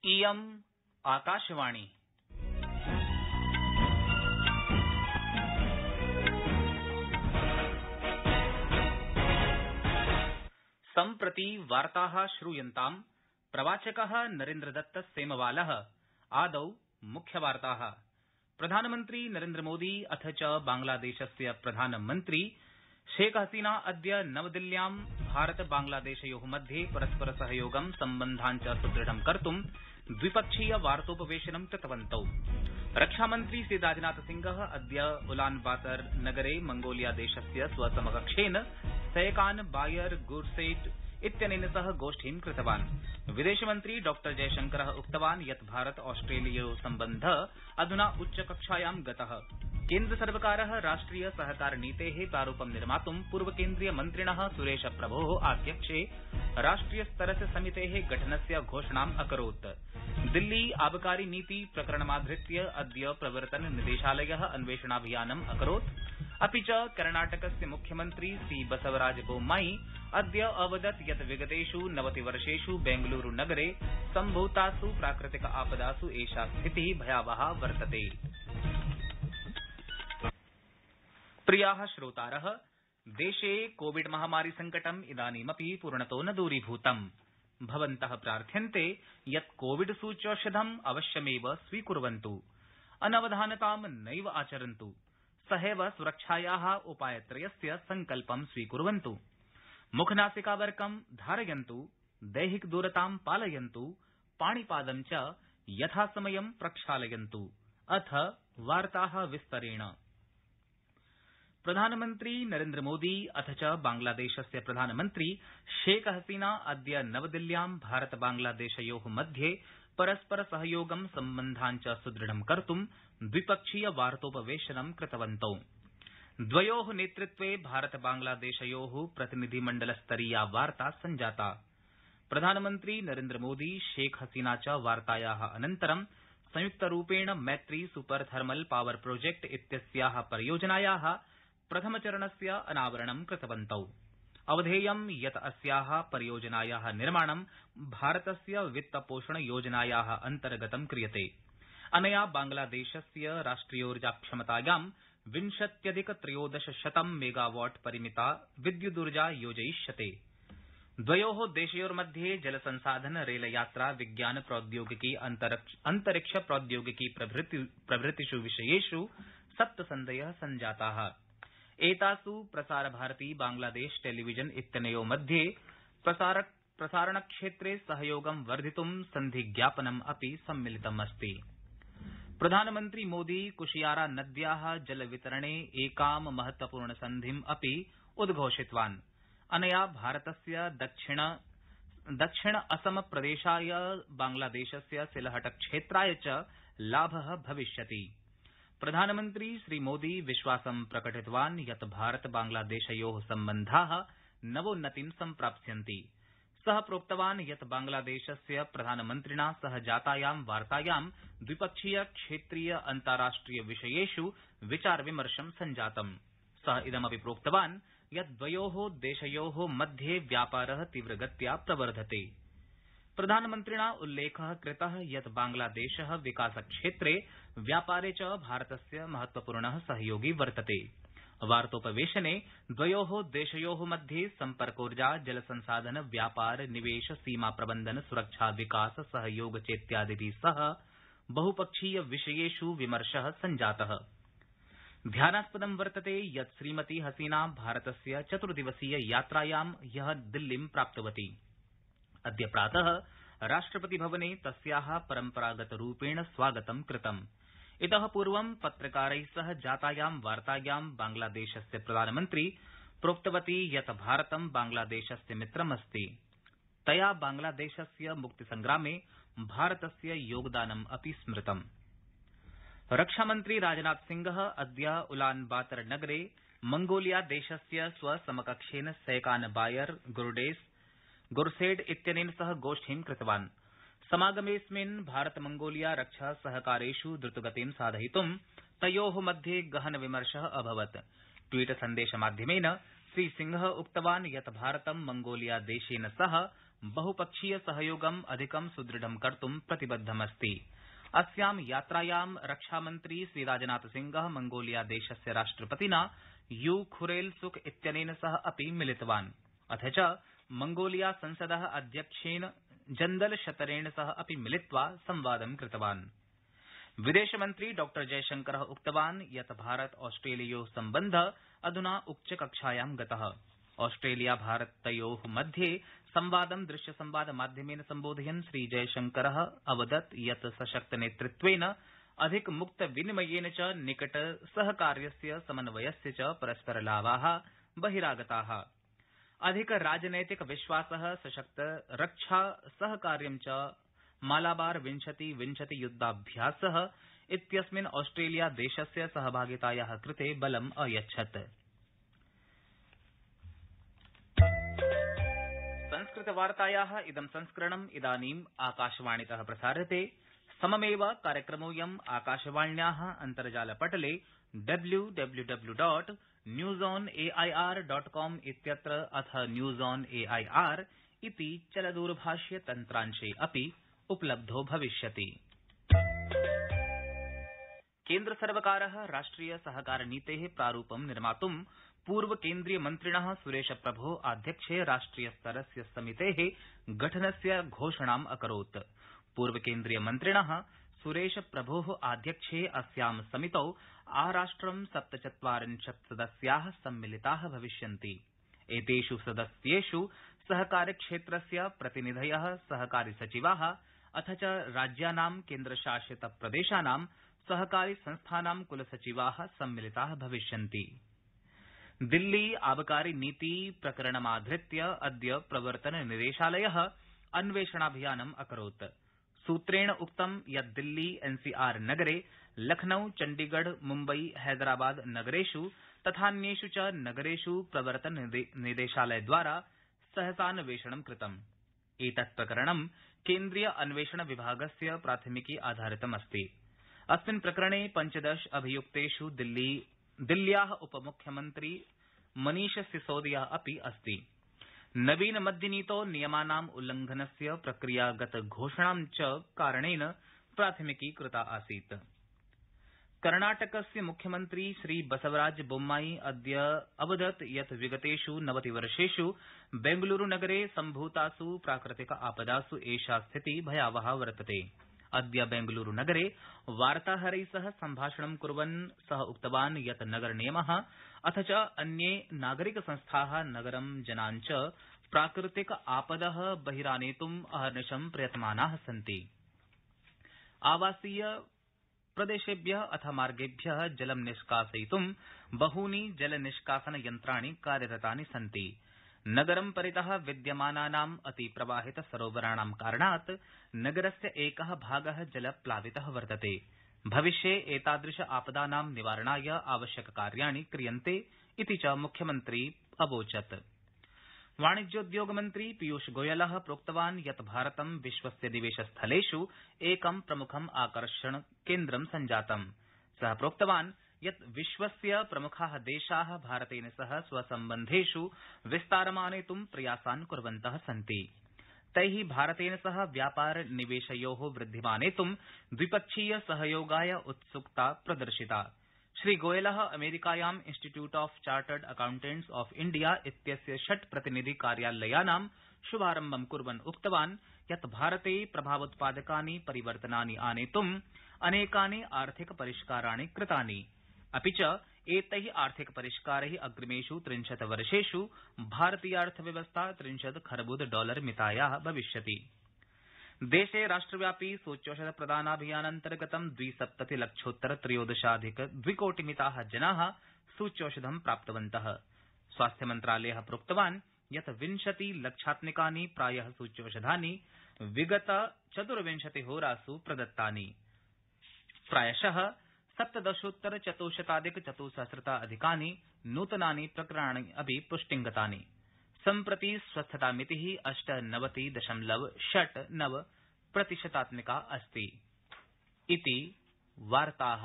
इयम् आकाशवाणी। सम्प्रति वार्ताः श्रूयन्ताम्। प्रवाचकः नरेन्द्रदत्त सेमवालः। आदौ मुख्यवार्ताः। प्रधानमन्त्री नरेन्द्रमोदी अथ च बांग्लादेशस्य प्रधानमन्त्री शेख हसीना अद्य नवदिल्ल्यां भारत बांग्लादेशयोः मध्ये परस्पर सहयोगं सम्बन्धान् च सुदृढं कर्तुं द्विपक्षीय वार्तोपवेशनं कृतवन्तौ। रक्षामन्त्री श्री राजनाथसिंहः अद्य उलानबातर नगरे मंगोलियादेशस्य स्वसमकक्षेन सैकान बायर गुरसेट इत्यनेन सह गोष्ठीं कृतवान्। विदेशमन्त्री डॉ जयशंकरः उक्तवान् यत् भारत ऑस्ट्रेलियो सम्बन्धः अधुना उच्चकक्षायां गतः। केन्द्रसर्वकारः राष्ट्रिय सहकार नीतेः प्रारूपं निर्मातुं पूर्वकेन्द्रीय मन्त्रिणः सुरेश प्रभोः आध्यक्ष्ये राष्ट्रियस्तरस्य समितेः गठनस्य घोषणाम् अकरोत्। दिल्ली आबकारी नीति प्रकरणमाधृत्य अद्य प्रवर्तन निदेशालयः अन्वेषणाभियानम् अकरोत्। अपि च कर्णाटकस्य मुख्यमन्त्री श्री बसवराज बोम्माई अद्य अवदत् यत् विगतेष् 90 वर्षेष् बेंगलुरूनगरे सम्भूतासु प्राकृतिक आपदासु एषा स्थितिः भयावहा वर्तते। प्रियाः श्रोतारः, देशे कोविड महामारी संकटम् इदानीमपि पूर्णतो न दूरीभूतम्। भवन्तः प्रार्थ्यन्ते यत् कोविड सूच्यौषधम् अवश्यमेव स्वीकुर्वन्तु, अनवधानतां नैव आचरन्तु, सहैव सुरक्षायाः उपायत्रयस्य सङ्कल्पं स्वीकुर्वन्तु। मुखनासिकावरकं धारयन्तु, दैहिकदूरतां पालयन्तु, पाणिपादं च यथासमयं प्रक्षालयन्तु। अथ वार्ताः विस्तरेण। प्रधानमन्त्री नरेन्द्रमोदी अथ च बांग्लादेशस्य प्रधानमन्त्री शेख हसीना अद्य नवदिल्ल्यां भारत बांग्लादेशयोः मध्ये परस्पर सहयोगं सम्बन्धान् च सुदृढं कर्तुं द्विपक्षीय वार्तोपवेशनं कृतवन्तौ। द्वयोः नेतृत्वे भारत बांग्लादेशयोः प्रतिनिधिमण्डलस्तरीया वार्ता सञ्जाता। प्रधानमन्त्री नरेन्द्रमोदी शेख हसीना च वार्तायाः अनन्तरं संयुक्तरूपेण मैत्री सुपर थर्मल पावर प्रोजेक्ट इत्यस्याः परियोजनायाः प्रथमचरणस्य अनावरणं कृतवन्तौ। अवधेयं यत् अस्याः परियोजनायाः निर्माणं भारतस्य वित्तपोषणयोजनायाः अन्तर्गतं क्रियते। अनया बांग्लादेशस्य राष्ट्रियोर्जाक्षमतायां 20,1300 मेगावाट परिमिता विद्युदूर्जा योजयिष्यते। द्वयोः देशयोर्मध्ये जलसंसाधन रेलयात्रा विज्ञान प्रौद्योगिकी अन्तरिक्ष प्रौद्योगिकी प्रभृतिष् विषयेष् सप्तसन्धयः सञ्जाताः। एतासु प्रसारभारती बांग्लादेश टेलीविजन इत्यनयोः मध्ये प्रसारणक्षेत्रे सहयोगं वर्धितुं सन्धिज्ञापनम् अपि सम्मिलितमस्ति। प्रधानमन्त्री मोदी कुशियारा नद्याः जलवितरणे एकां महत्वपूर्णसन्धिम् अपि उद्घोषितवान्। अनया भारतस्य दक्षिण असम प्रदेशाय बांग्लादेशस्य सिलहट-क्षेत्राय च लाभः भविष्यति। प्रधानमन्त्री श्रीमोदी विश्वासं प्रकटितवान् यत् भारत बांग्लादेशयोः सम्बन्धाः नवोन्नतिं सम्प्राप्स्यन्ति। सः प्रोक्तवान् यत् बांग्लादेशस्य प्रधानमन्त्रिणा सह जातायां वार्तायां द्विपक्षीय क्षेत्रीय अन्ताराष्ट्रिय विषयेष् विचारविमर्शं सञ्जातम्। सः इदमपि प्रोक्तवान् यत् द्वयोः देशयोः मध्ये व्यापारः तीव्रगत्या प्रवर्धते। प्रधानमन्त्रिणा उल्लेखः कृतः यत् बांग्लादेशः विकासक्षेत्रे व्यापारे च भारतस्य महत्वपूर्णः सहयोगी वर्तते। वार्तोपवेशने द्वयोः देशयोः मध्ये सम्पर्कोर्जा जलसंसाधन व्यापार निवेश सीमा प्रबन्धन सुरक्षा विकास सहयोग चेत्यादिभिः सह बहुपक्षीय विषयेष् विमर्शः सञ्जातः। ध्यानास्पदं वर्तते यत् श्रीमती हसीना भारतस्य 4 दिवसीय यात्रायां ह्यः दिल्लीं प्राप्तवती। अद्य प्रातः राष्ट्रपतिभवने तस्याः परम्परागतरूपेण स्वागतं कृतम्। इतः पूर्वं पत्रकारैः सह जातायां वार्तायां बांग्लादेशस्य प्रधानमन्त्री प्रोक्तवती यत् भारतं बांग्लादेशस्य मित्रमस्ति। तया बांग्लादेशस्य मुक्तिसंग्रामे भारतस्य योगदानम् अपि स्मृतम्। रक्षामन्त्री राजनाथसिंहः अद्य उलानबातर नगरे मंगोलियादेशस्य स्वसमकक्षेन सैकान बायर गुरसेट इत्यनेन सह गोष्ठीं कृतवान्। समागमेऽस्मिन् भारत मंगोलिया रक्षा सहकारेष् द्रुतगतिं साधयितुं तयोः मध्ये गहन विमर्शः अभवत्। ट्वीट सन्देशमाध्यमेन श्रीसिंहः उक्तवान् यत् भारतं मंगोलियादेशेन सह बहुपक्षीय सहयोगम् अधिकं सुदृढं कर्तुं प्रतिबद्धमस्ति। अस्यां यात्रायां रक्षामन्त्री श्रीराजनाथसिंह मंगोलियादेशस्य राष्ट्रपतिना यू खुरेल सुख इत्यनेन सह अपि मिलितवान्। अथ च मंगोलिया संसद अध्यक्षेण जन्दल शतरेण सह अपि मिलित्वा संवादं कृतवान्। विदेशमन्त्री डॉ जयशंकर उक्तवान् यत् भारत ऑस्ट्रेलियो सम्बन्ध अधुना उच्चकक्षायां गतः। ऑस्ट्रेलिया भारतयो मध्ये संवादं दृश्यसंवाद माध्यमेन सम्बोधयन् श्रीजयशंकर अवदत् यत् सशक्त नेतृत्वेन अधिक मुक्त विनिमयेन च निकट सहकार्यस्य समन्वयस्य च परस्परलाभा बहिरागता। अधिक राजनैतिक विश्वास सशक्त रक्षा सहकार्यं च मालाबार 20-20 युद्धाभ्यास इत्यस्मिन् ऑस्ट्रेलिया देशस्य सहभागिताया कृते बलम् अयच्छत्। संस्कृतवार्ताया इदं संस्करणम् इदानीम् आकाशवाणीतः प्रसार्यते। सममेव कार्यक्रमोऽयम् आकाशवाण्या अन्तर्जालपटले www.newsonair.com इत्यत्र अथ न्यूज ऑन एआईआर इति चलदूरभाष्य तन्त्रांशे अपि उपलब्धो भविष्यति। केन्द्रसर्वकारः राष्ट्रिय सहकार नीतेः प्रारूपं निर्मातुं पूर्व केन्द्रीय मन्त्रिणः सुरेशप्रभो आध्यक्षे राष्ट्रियस्तरस्य समितेः गठनस्य घोषणाम् अकरोत्। पूर्व केन्द्रीय मन्त्रिणः सुरेशप्रभोः आध्यक्षे अस्यां समितौ आराष्ट्रं 47 सदस्याः सम्मिलिताः भविष्यन्ति। एतेषु सदस्येषु सहकारिक्षेत्रस्य प्रतिनिधयः, सहकारी सचिवाः अथ च राज्यानां केन्द्रशासित प्रदेशानां सहकारी संस्थानां कुलसचिवाः सम्मिलिताः भविष्यन्ति। दिल्ली आबकारी नीति प्रकरणमाधृत्य अद्य प्रवर्तन निदेशालयः अन्वेषणाभियानम् अकरोत्। सूत्रेण उक्तं यत् दिल्ली एनसीआर नगरे लखनऊ, चण्डीगढ़, मुम्बई, हैदराबाद नगरेषु तथान्येषु च नगरेषु प्रवर्तन निदेशालयद्वारा सहसान्वेषणं कृतम्। एतत् प्रकरणं केन्द्रीय अन्वेषण विभागस्य प्राथमिकी आधारितमस्ति। अस्मिन् प्रकरणे 15 अभियुक्तेषु दिल्ल्याः उपमुख्यमन्त्री मनीष सिसोदिया अपि अस्ति। नवीन मद्यनीतो नियमानाम् उल्लंघनस्य प्रक्रियागत घोषणां च कारणेन प्राथमिकी कृता आसीत्। कर्णाटकस्य मुख्यमन्त्री श्री बसवराज बोम्माई अद्य अवदत् यत् विगतेषु 90 वर्षेषु बेंगलुरूनगरे सम्भूतासु प्राकृतिक आपदासु एषा स्थितिः भयावहा वर्तते। अद्य बेंगलुरूनगरे वार्ताहरैः सह सम्भाषणं कुर्वन् सः उक्तवान् यत् नगरनियमः अथ च अन्ये नागरिकसंस्थाः नगरं जनान् च प्राकृतिक आपदः बहिरानेतुम् अहर्निशं प्रयतमानाः सन्ति। आवासीय प्रदेशेभ्यः अथ मार्गेभ्यः जलं निष्कासयितुं बहूनि जलनिष्कासन यन्त्राणि कार्यरतानि सन्ति। नगरं परितः विद्यमानानाम् अतिप्रवाहित सरोवराणां कारणात् नगरस्य एकः भागः जलप्लावितः वर्तते। भविष्ये एतादृश आपदानां निवारणाय आवश्यककार्याणि क्रियन्ते इति च मुख्यमन्त्री अवोचत्। वाणिज्योद्योगमन्त्री पीयूष गोयलः प्रोक्तवान् यत् भारतं विश्वस्य निवेशस्थलेषु एकं प्रमुखम् आकर्षणकेन्द्रं सञ्जातम्। सः प्रोक्तवान् यत् विश्वस्य प्रमुखाः देशाः भारतेन सह स्वसम्बन्धेषु विस्तारमानेतुं प्रयासान् कुर्वन्तः सन्ति। तैः भारतेन सह व्यापार निवेशयोः वृद्धिमानेतुं द्विपक्षीय सहयोगाय उत्सुकता प्रदर्शिता। श्रीगोयलः अमेरिकायां institute of chartered accountants of India इत्यस्य 6 प्रतिनिधि कार्यालयानां शुभारम्भं कुर्वन् उक्तवान् यत् भारते प्रभावोत्पादकानि परिवर्तनानि आनेतुम् अनेकानि आर्थिक परिष्काराणि कृतानि। अपि च एतैः आर्थिक परिष्कारैः अग्रिमेषु 30 वर्षेषु भारतीयार्थव्यवस्था $30 खर्बुद मितायाः भविष्यति। देशे राष्ट्रव्यापी सूच्यौषधप्रदानाभियानान्तर्गतं 270,00,000-त्रयोदशाधिक-2कोटिमिताः जनाः सूच्यौषधं प्राप्तवन्तः। स्वास्थ्यमन्त्रालयः प्रोक्तवान् यत् 20 लक्षात्मिकानि प्रायः सूच्यौषधानि विगत 24 होरासु प्रदत्तानि। प्रायशः 17,400,400 नूतनानि प्रकरणानि अपि पुष्टिंगतानि। सम्प्रति स्वस्थतामितिः 98.69% अस्ति। इति वार्ताः।